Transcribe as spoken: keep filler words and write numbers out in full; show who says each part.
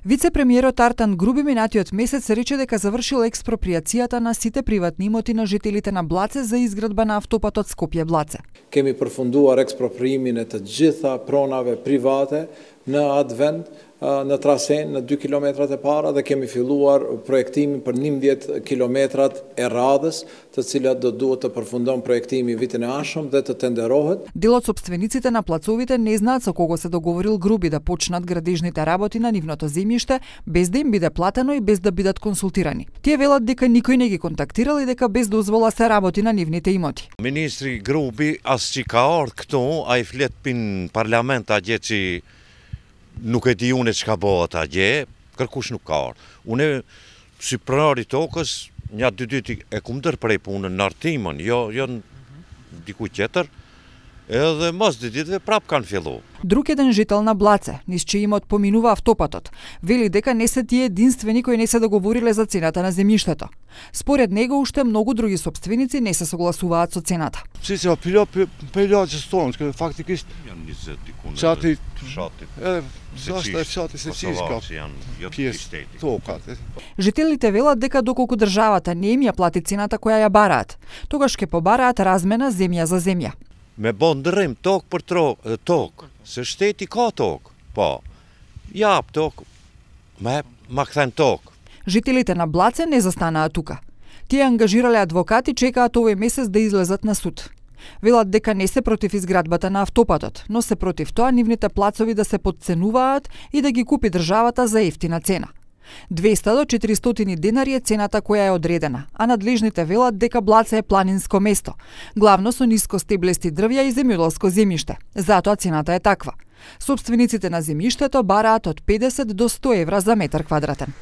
Speaker 1: Вице-премиерот Артан Груби минатиот месец рече дека завршил експроприацијата на сите приватни имоти на жителите на Блаце за изградба на автопатот Скопје-Блаце.
Speaker 2: Kemi përfunduar ekspropriimin e të gjitha pronave private në atë vend, në trasen në dy kilometrat e para dhe kemi filluar projektimin për njëmbëdhjetë kilometrat e radhës, të cilat do duhet të përfundon projektimi vitin e ardhshëm dhe të tenderohet.
Speaker 1: Дел од сопствениците на плацовите не знаат со кого се договорил Груби да почнат градежните работи на нивното земјиште без да им биде платено и без да бидат консултирани. Тие велат дека никој не ги контактирал и дека без дозвола се работи на нивните имоти.
Speaker 3: Министри Груби as që ka ardhur këtu, ai flet pin parlament atje që nuk e di unë çka bëhet atje, kërkush nuk ka ardhur. Unë si pronari tokës, një dy ditë e kum ndërprej punën në Artimën, jo jo diku tjetër. Edhe mos dy ditëve prap kanë filluar.
Speaker 1: Друг еден жител на Блаце, низ чиј имот поминува автопатот, вели дека не се тие единствени кои не се договориле за цената на земјиштето. Според него уште многу други собственици не се согласуваат со цената.
Speaker 4: Си се апило пелјаѓе стоnë, фактикисht
Speaker 3: Janë njëzet diku në
Speaker 4: Çati
Speaker 3: fshatit.
Speaker 4: Edhe zashta e fshatit se çiska pjesë tokat.
Speaker 1: Жителите велат дека доколку државата не им ја плати цената која ја бараат, тогаш ќе побараат размена земја за земја.
Speaker 3: Me bo ndërrim tokë për tokë, tokë, se shteti ka tokë, po, jap tokë, me ma kthen tokë.
Speaker 1: Жителите на Блаце не застанаа тука. Тие ангажирале адвокати, чекаат овој месец да излезат на суд. Велат дека не се против изградбата на автопатот, но се против тоа нивните плацови да се подценуваат и да ги купи државата за ефтина цена. двеста до четиристотини денари е цената која е одредена, а надлежните велат дека Блаце е планинско место, главно со ниско стеблести дрвја и земјоделско земјиште. Затоа цената е таква. Собствениците на земјиштето бараат од педесет до сто евра за метар квадратен.